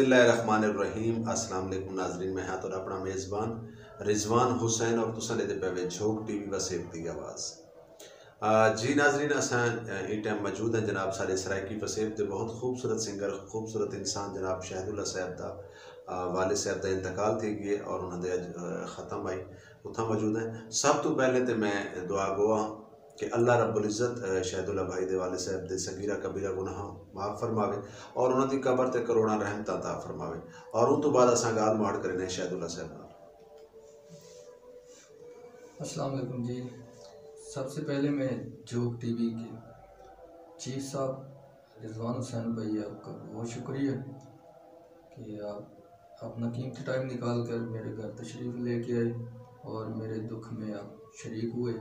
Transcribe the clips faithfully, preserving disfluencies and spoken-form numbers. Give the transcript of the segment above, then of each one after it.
بسم اللہ الرحمن الرحیم۔ السلام علیکم ناظرین، میں ہاں تہاݙا اپݨا میزبان رضوان حسین اور تساں ݙیہدے پئے وے جھوک ٹی وی وسیب دی آواز۔ آ، جی ناظرین، اساں، آ، ایں ٹائم موجود ہیں جناب ساݙے سرائیکی وسیب دے بہت خوبصورت سنگر، خوبصورت انسان جناب شاہد اللہ صاحب دا، آ، والد صاحب دا انتقال تھی ڳئے اور انہاں دے اڄ، آ، ختم آئی، اتھاں موجود ہیں۔ سب توں پہلے تے میں دعا گو ہاں کہ اللہ رب العزت، آ، شاہد اللہ بھائی دے والد صاحب دے صغیرہ کبیرہ گناہاں معاف فرماوے اور انہاں دی قبر تے کروڑاں رحمتاں عطا فرماوے۔ اور اوں توں بعد اساں ڳالھ مہاڑ کریندے ہیں شاہد اللہ صاحب نال۔ السلام علیکم جی، سب سے پہلے میں جھوک ٹی وی کے چیف صاحب رضوان حسین بھائی، آپ کا بہت شکریہ کہ آپ اپنا قیمتی ٹائم نکال کر میرے گھر تشریف لے کے آئے اور میرے دکھ میں آپ شریک ہوئے۔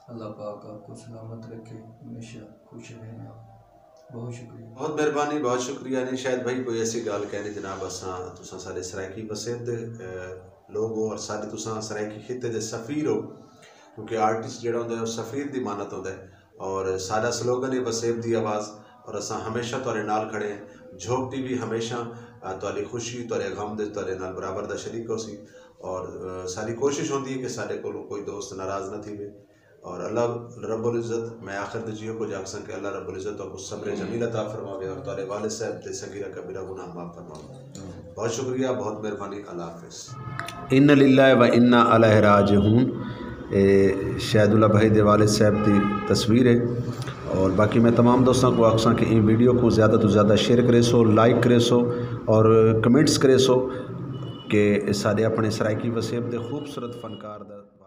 اللہ پاک آپ کو سلامت رکھے، ہمیشہ خوش رہیں آپ۔ بہت شکریہ۔ بہت مہربانی، بہت شکریہ۔ نہیں شاہد بھائی، کوئی ایسی ڳالھ کائنی جناب، اساں تساں ساݙے سرائیکی وسیب دے، آ، لوگ ہو اور ساݙے تساں سرائیکی خطے دے سفیر ہو، کیونکہ آرٹسٹ جیڑھا ہوندا ہے او سفیر دی مانت ہوندا ہے۔ اور ساݙا سلوگن ہے وسیب دی آواز، اور اساں ہمیشہ تہاݙے نال کھڑے ہیں۔ جھوک ٹی وی ہمیشہ، آ، تہاݙی خوشی، تہاݙے غم دے تہاݙے نال برابر دا شریک ہوسی۔ اور، آ، ساݙی کوشش ہوندی ہے کہ ساݙے کولوں کوئی دوست ناراض نہ تھیوے۔ اور اللہ رب العزت، میں آخر تے جیو کجھ آکھساں کہ اللہ رب العزت تہاکوں صبر جمیل عطا فرماوے اور تہاݙے والد صاحب دے صغیرہ کبیرہ گناہ معاف فرماوے۔ بہت شکریہ، بہت مہربانی، اللہ حافظ۔ ان للہ و انا الیہ راجعون۔ اے شاہد اللہ بھائی دے والد صاحب دی تصویر ہے۔ اور باقی میں تمام دوستاں کوں آکھساں کہ ایں ویڈیو کوں زیادہ توں زیادہ شیئر کریسو، لائک کریسو اور کمنٹس کریسو کہ ساݙے اپݨے سرائیکی وسیب دے خوبصورت فنکار دا